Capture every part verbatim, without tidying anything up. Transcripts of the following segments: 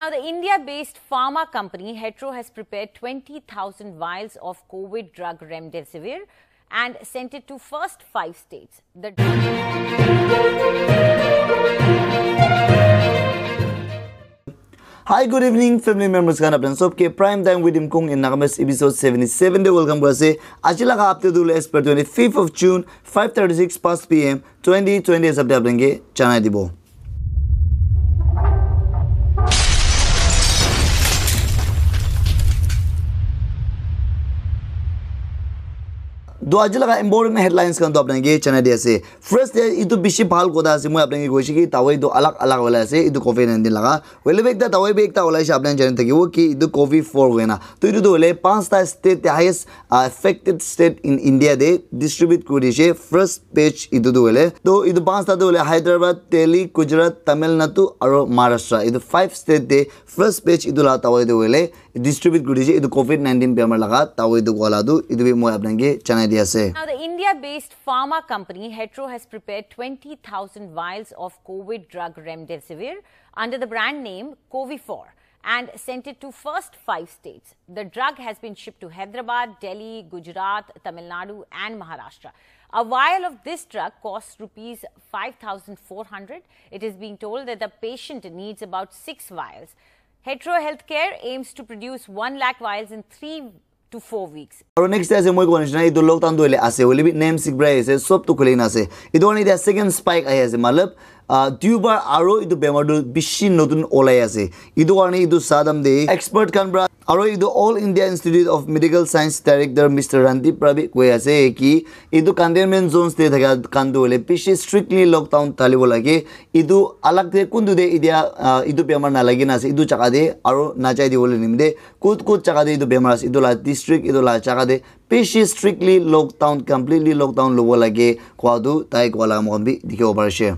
Now, the India-based pharma company Hetero has prepared twenty thousand vials of COVID drug remdesivir and sent it to first five states. The Hi, good evening, family members khan. Apnan sob ke Prime Time with Imkung in Nagamese episode seventy-seven de welcome kura ase. Aji laga update tu as per twenty-fifth of June, five thirty-six past P M, twenty twenty hisab de apnan ke janai dibo. Do aji laga important headlines khan to apnai ke janai di ase. First de itu bishi bhal kotha ase, moi apnai ke koise ki dawai tu alag alag wala ase itu COVID nineteen laga. Hoile bi ekta dawai bi ekta olai se apnai jani thakibo ki itu COVID four hoina. To itu tu hoile panchta state te highest uh, affected state in India de distribute kuri dishe first batch itu tu hoile. To itu panchta tu hoile Hyderabad, Delhi, Gujarat, Tamil Nadu aro Maharashtra. Itu five state de first batch itu la dawai tu hoile distribute kuri dishe itu COVID nineteen bemar laga dawai tu wala tu itu bi moi apnai ke janai di ase. Now, the India-based pharma company Hetero has prepared twenty thousand vials of COVID drug remdesivir under the brand name Covifor and sent it to first five states. The drug has been shipped to Hyderabad, Delhi, Gujarat, Tamil Nadu, and Maharashtra. A vial of this drug costs rupees five thousand four hundred. It is being told that the patient needs about six vials. Hetero Healthcare aims to produce one lakh vials in three to four weeks. Aru next day ase moi kowa nishina etu lockdown tu hoile ase hoile bi name sikbrai ase sob tu khuli na ase. Etu karne etia second spike ahi ase matlab uh, duibar aru etu bemar tu bishi notun olai ase. Etu karne etu sadam de expert khan pra aru etu All India Institute of Medical Science Director Mister Randeep pra bi koi ase ki etu containment zones de thaka khan tu hoile bishi strictly lockdown thalibo lage. Etu alag de kuntu de etia uh, etu bemar nalagi na ase etu jaga de aru najai dibole nimite kut kut jaga de etu bemar ase etu la district etu la jaga de bishi strictly lockdown completely lockdown lobo lage koa tu tai koa la moikhan bi dikhibo parishe.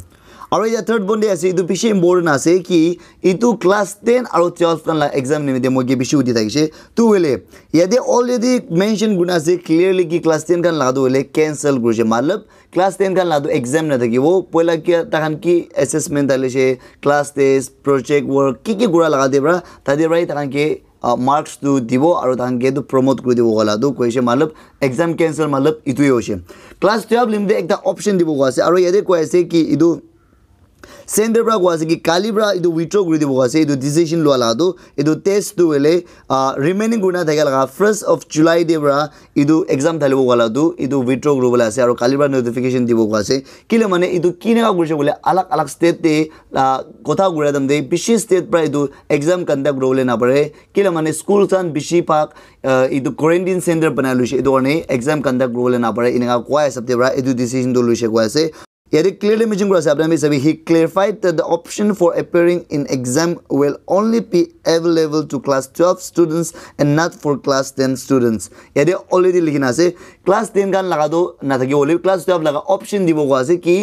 Aru etia third point de ase etu bishi important ase ki etu class ten aru twelve khan la exam nimite moi ke bishi hudi thakishe. Tu hoile yate already mention kurina ase clearly ki class ten khan la tu hoile cancel kurishe matlab class ten khan la tu exam na thakibo poila kia takhan ki assessment thalishe class test project work ki ki kura laga de pra tate pra takhan ke uh, marks tu dibo aru takhan ke tu promote kuri dibo wala tu koise matlab exam cancel matlab itu hi hoise. Class twelve nimite ekta option dibo koi ase aru yate koi ase ki itu center pra koi ase ki kali pra itu withdraw kuri dibo koi ase itu decision lua laga tu itu test tu hoile uh, remaining kurina thaka laga first of July de pra itu exam thalibo wala tu itu withdraw kuribole ase aru kali pra notification dibo koi ase kile mane itu kineka kurise bole alag alag state te uh, kotha kura time te bishi state pra itu exam conduct kuribole napare kile mane school khan bishi bhag uh, itu quarantine center banai luishe itu karne exam conduct kuribole napare eneka koa hisab te pra itu decision tu luishe koi ase. Yate clearly mention kura ase apni khan bi sabi he clarified that the option for appearing in exam will only be available to class twelve students and not for class ten students. Yate already likhina ase class ten khan laga tu na thaki bole class twelve laga option dibo koi ase ki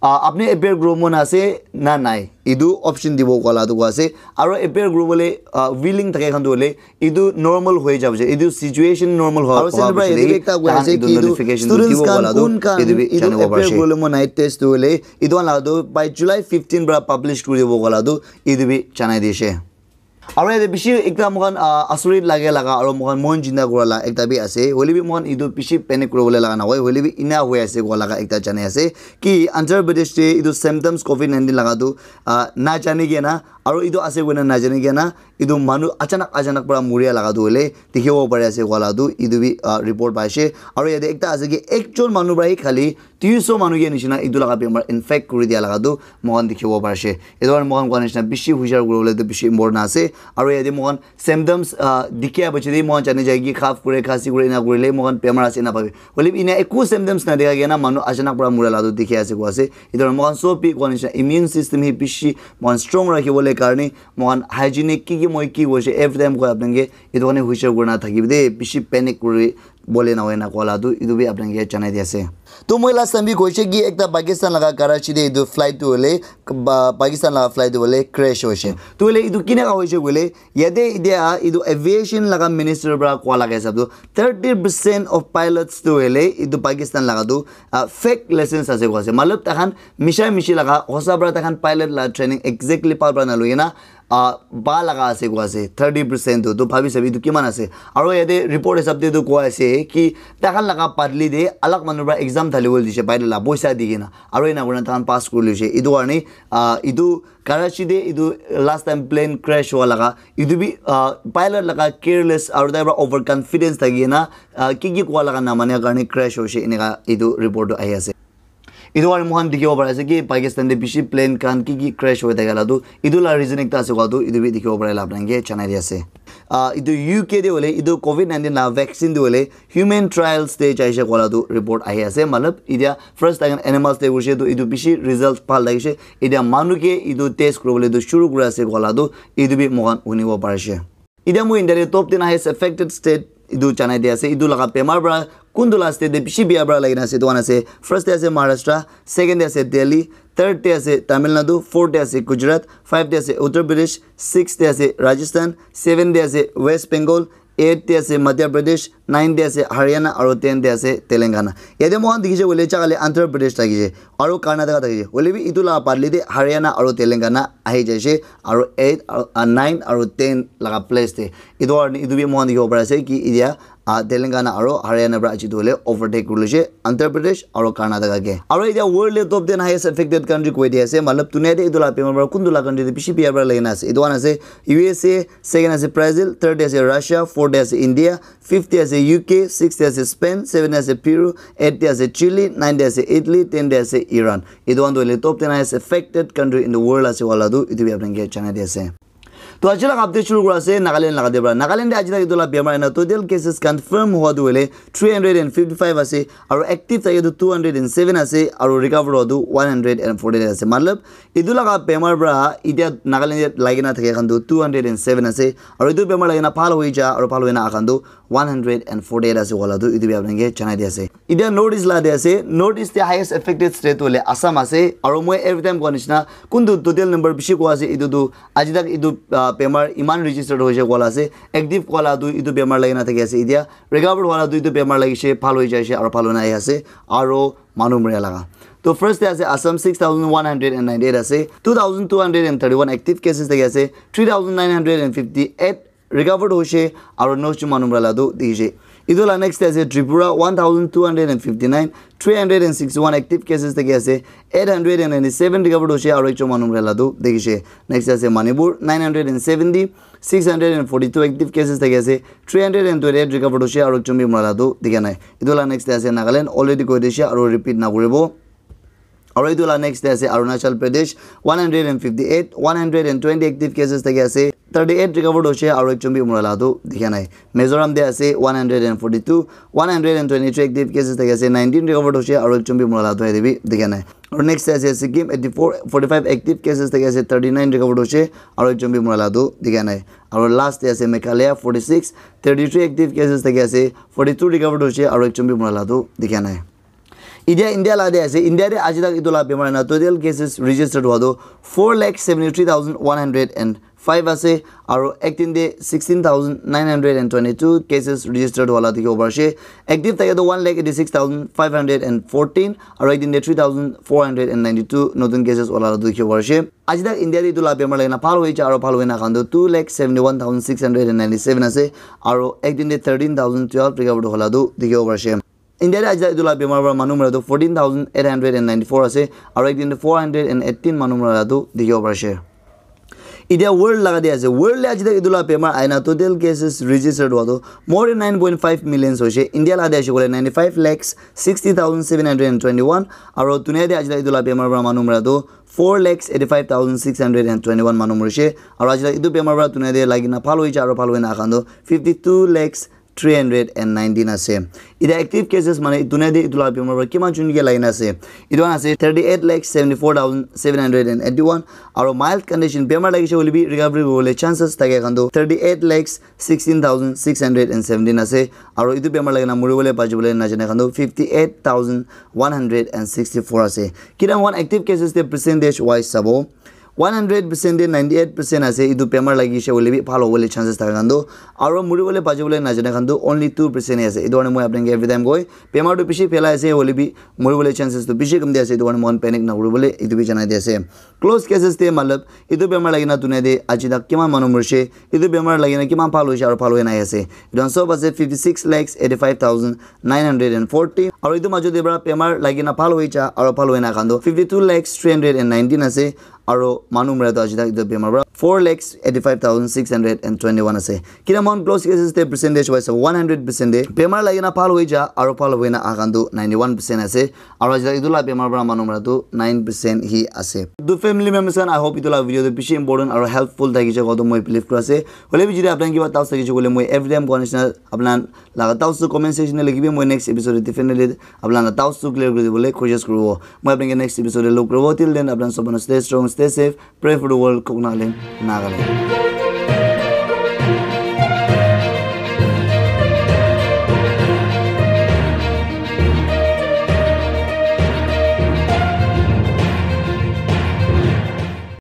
uh, apni appear kuribo mon ase na nai etu option dibo koa la tu koi ase aru appear kuribole uh, willing thake khan tu hoile etu normal hoi jabo je etu situation normal hoi aru center pra etu ekta koi ase ki etu notification tu students dibo khan koa la tu kun khan etu bi etu janibo appear parishe. Kuribole mon nai test tu hoile etu khan la tu by July fifteen pra publish kuri dibo koa la tu etu bi janai dishe. Aru yate bishi ekta moikhan uh, asurit lage laga aru moikhan mon jinda kura la ekta bi ase hoile bi moikhan etu bishi panic kuribole laga nahoi hoile bi ena hoi ase koa laga ekta janai ase ki Andhra Pradesh te etu symptoms COVID nineteen laga tu uh, na jani kena aru etu ase koina na jani kena etu manu achanak achanak pra muria laga tu hoile dikhibo pari ase koa la tu etu bi uh, report paishe aru yate ekta ase ki ekjon manu pra hi khali duiso manu ke nishina etu laga bemar infect kuri dia laga tu moikhan dikhibo parishe. Etu karne moikhan koa nishina bishi hushar kuribole tu bishi important ase. Aru yate moikhan symptoms uh, dikhi a piche de moikhan jani jai ki cough kure, khasi kure, ena kurile moikhan bemar ase ena bhabi. Hoile bi ena eku symptoms na dikha kena manu achanak pra mura la tu dikhi ase koi ase. Etu karne moikhan sob bi koa nishina immune system hi bishi moikhan strong rakhi bole karne moikhan hygienic ki ki moi ki koise every time koi apni khan ke etu karne hushar kurina thakibi de bishi panic kuri bole na hoi na koa la tu etu bi apni khan ke janai di ase. To moi last time bi koise ki ekta Pakistan laga Karachi te etu flight tu hoile, ba, Pakistan laga flight tu hoile crash hoise. To hoile etu kinaka hoise koile, yate etia etu aviation laga minister para koa laga hisab tu thirty percent of pilots tu hoile etu Pakistan laga tu, ah, fake license ase koa ase. Matlab takhan misha mishi laga hosa para takhan pilot la training exactly pal para naloi na, ah, ba laga ase koa ase thirty percent tu. To bhabi sabi etu kiman ase. Aro yate report hisab te tu koa ase ki takhan laga padli te alag manu para exam thali bole dise, pilot la poisa di kena. Aro ena kurina takhan pass kuri lise. Etu karne, ah, etu Karachi te etu last time plane crash hua laga, etu bi, ah, pilot laga careless aro tai para over confidence thaki kena, ah, ki ki koa laga namania karne crash hoise, eneka etu report tu ahi ase. Etu karne moikhan dikhibo pari ase ki Pakistan te bishi plane khan ki ki crash hoi thaka la tu, etu la reason ekta ase koa tu, etu bi dikhibo pari la apni khan ke janai di ase. Ah, etu U K te hoile, etu covid nineteen la vaccine te hoile, human trials te jaise koa la tu report ahi ase. Matlab, etia first time animals te kurise tu etu bishi result bhal thakise. Etia manu ke etu test kuribole tu shuru kuri ase koa la tu etu bi moikhan hunibo parise. Etia moi India te top ten highest affected state etu janai di ase. Etu laga bemar para kuntu la state te bishi bia para lagina ase. Etu khan ase, first te ase Maharashtra, second te ase Delhi, third te ase Tamil Nadu, fourth te ase Gujarat, five te ase Uttar Pradesh, six te ase Rajasthan, seven te ase West Bengal, eight te ase Madhya Pradesh, nine te ase Haryana, aro ten te ase Telangana. Yate moikhan dikhi se koile jaga le Andhra Pradesh thakise, aro Karnataka thakise. Hoile bi etu la badli te Haryana aro Telangana ahi jaise, aro eight, aro, ah, nine aro ten laga place te. Etu karne etu bi moikhan dikhibo pari ase ki etia, ah, Telangana aro Haryana para aji tu hoile overtake kuri lise Andhra Pradesh aro Karnataka ke. Aro etia world le top ten highest affected country koi di ase, matlab dunia te etu la bemar para kuntu la country te bishi bia para lagina ase. Etu khan ase U S A, second ase Brazil, third te ase Russia, fourth te ase India, fifth te ase U K, sixth te ase Spain, seven te ase Peru, eight te ase Chile, nine te ase Italy, ten te ase Iran. Etu khan tu hoile top ten highest affected country in the world ase wala tu etu bi apni ke janai di ase. To aji laga update shuru kura ase Nagaland laga te para. Nagaland te aji tak etu la bemar ena total cases confirm hua tu hoile three hundred and fifty five ase, aro active thake tu two hundred and seven ase, aro recover hua tu one hundred and forty eight ase. Matlab, etu laga bemar para etia Nagaland te lagi na thake khan tu two hundred and seven ase, aro etu bemar lagi na bhal hoi ja, aro bhal hoi na aha khan tu one hundred and forty eight ase wala tu etu bi apni ke janai di ase. Etia North East la te ase, North East te highest affected state tu hoile Assam ase, aro moi every time koa nishina kuntu total number bishi koa ase, etu tu aji tak etu, ah, bemar iman registered hoise koa la ase, active koa la tu etu bemar lagi na thaki ase, etia recover hua la tu etu bemar lagise, bhal hoi jaise, aro bhal hoi na ahi ase, aro manu mori laga. To first te ase Assam, six thousand one hundred and ninety eight ase, two thousand two hundred and thirty one active cases thaki ase, three thousand nine hundred and fifty eight recovered hoise, aro nosh jon manu mora la tu dikhi se. Etu la next te ase Tripura, one thousand two hundred and fifty nine, three hundred and sixty one active cases thaki ase, eight hundred and ninety seven recovered hoise, aro ekjon manu mora la tu dikhi se. Next te ase Manipur, nine hundred and seventy, six hundred and forty two active cases thaki ase, three hundred and twenty eight recovered hoise, aro ekjon bi mora la tu dikha nai. Etu la next te ase Nagaland, already koi dise, aro repeat na kuribo. Aro etu la next te ase Arunachal Pradesh, one hundred and fifty eight, one hundred and twenty active cases thaki ase, thirty eight recovered hoise, aro ekjon bi mora la tu dikha nai. Mizoram te ase one hundred and forty two, one hundred and twenty three active cases thaki ase, nineteen recovered hoise, aro ekjon bi mora la tu yate bi dikha nai. Aro next te ase Sikkim, eighty four, forty five active cases thaki ase, thirty nine recovered hoise, aro ekjon bi mora la tu dikha nai. Aro last te ase Meghalaya, forty six, thirty three active cases thaki ase, forty two recovered hoise, aro ekjon bi mora la tu dikha nai. Etia India la te ase, India te aji tak etu la bemar na total cases registered hua tu four lakh seventy three thousand one hundred and five ase, aro ek din te sixteen thousand nine hundred and twenty two cases registered hua la dikhibo pari ase. Active thake tu one lakh eighty six thousand five hundred and fourteen, aro ek din te three thousand four hundred and ninety two notun cases hua la dikhibo pari ase. Aji tak India te etu la bemar lagi na bhal hoi ja aro bhal hoi na khan tu two lakh seventy one thousand six hundred and ninety seven ase, aro ek din te thirteen thousand twelve recovered hua la tu dikhibo pari ase. India te aji tak etu la bemar para manu mora tu fourteen thousand eight hundred and ninety four ase, aro ek din te four hundred and eighteen manu mora la tu dikhibo pari ase. Etia world laga te ase, world te aji tak etu la bemar aina total cases registered hua tu more than nine point five millions hoise. India la te ase koile ninety five lakhs sixty thousand seven hundred and twenty one, aro dunia te aji tak etu la bemar para manu mora tu four lakhs eighty five thousand six hundred and twenty one manu morise, aro aji tak etu bemar para dunia te lagi na bhal hoi ja aro bhal hoi na aha khan tu fifty two lakhs three hundred and nineteen ase. Ite active cases mane dunia te itu la bemar para kiman jon ke lagina ase. Itu khan ase thirty eight lakh seventy four thousand seven hundred and eighty one. Aro mild condition bemar lagise hoile bi recovery hobole chances thake khan tu thirty eight lakhs sixteen thousand six hundred and seventeen ase. Aro itu bemar lagina muribole bachibole najane khan tu fifty eight thousand one hundred and sixty four ase. Kina one active cases te percentage wise sabo, one hundred percent te ninety eight percent ase itu bemar lagise hoile bi bhal hobole chances thaka khan tu. Aro muribole bachibole najane khan tu only two percent ase. Itu karone moi apni khan ke every time koi, bemar tu bishi phelai ase hoile bi muribole chances tu bishi kam di ase. Itu karone moikhan panic na kuribole itu bi janai di ase. Close cases te matlab itu bemar lagina dunia te aji tak kiman manu murishe, itu bemar lagina kiman bhal hoishe aro bhal hoi nai ase. Itu khan sob ase fifty six lakhs eighty five thousand nine hundred and forty. Aro itu majo te para bemar lagina bhal hoi ja aro bhal hoi na khan tu fifty two lakhs three hundred and nineteen ase. Aro manu mura tu aji tak itu bemar para four lakhs eighty five thousand six hundred and twenty one ase. Kina mon close cases te percentage wise one hundred percent te bemar lagina bhal hoi ja aro bhal hoi na ahan tu ninety one percent ase. Aro aji tak itu la bemar para manu mura tu nine percent hi ase. Tu family members khan, I hope itu la video tu bishi important aro helpful thakise kowa tu moi believe kuri ase. Hoile bi jodi apni khan kiba doubts thakise koile moi every time kowa nishina apni khan laga doubts tu comment section te likhibi, moi next episode te definitely apni khan la doubts tu clear kuri dibole koshish kuribo. Moi apni khan ke next episode te log kuribo. Till then apni khan sob manu stay strong, stay safe, pray for the world, Koknaland, Nagaland.